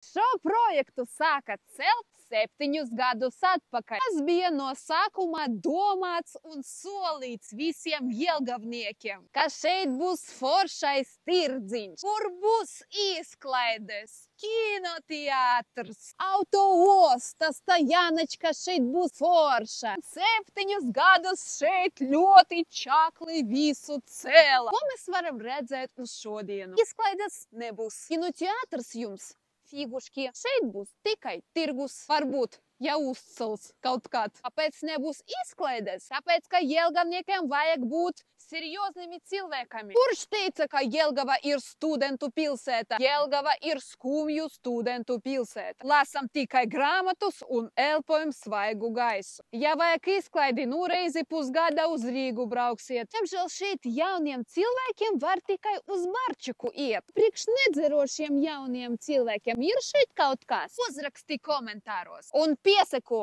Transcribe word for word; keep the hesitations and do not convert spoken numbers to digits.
Šo projektu sāka celt septiņus gadus atpakaļ. Tas bija no sākuma domāts un solīts visiem jelgavniekiem, ka šeit būs foršais tirdziņš, kur būs izklaides, kinoteātrs, autoostas, tā Jānečka šeit būs forša. Septiņus gadus šeit ļoti čakli visu cēla. Ko mēs varam redzēt uz šodienu? Izklaides nebūs. Kinoteātrs jums figuški. Šeit būs tikai tirgus, varbūt jau uzcels kaut kād. Kāpēc nebūs izklaides? Tāpēc, ka jelgavniekiem vajag būt seriozными cilvēkami. Kurš teica, ka Jelgava ir studentu pilsēta? Jelgava ir skumju studentu pilsēta. Lasam tikai grāmatus un elpojam svaigu gaisu. Ja vajag izklaidi, nu reizi pusgada uz Rīgu brauksiet. Diemžēl šeit jauniem cilvēkiem var tikai uz barčiku iet. Priekš nedzerošiem jauniem cilvēkiem ir šeit kaut kas? Uzraksti komentāros un pieseko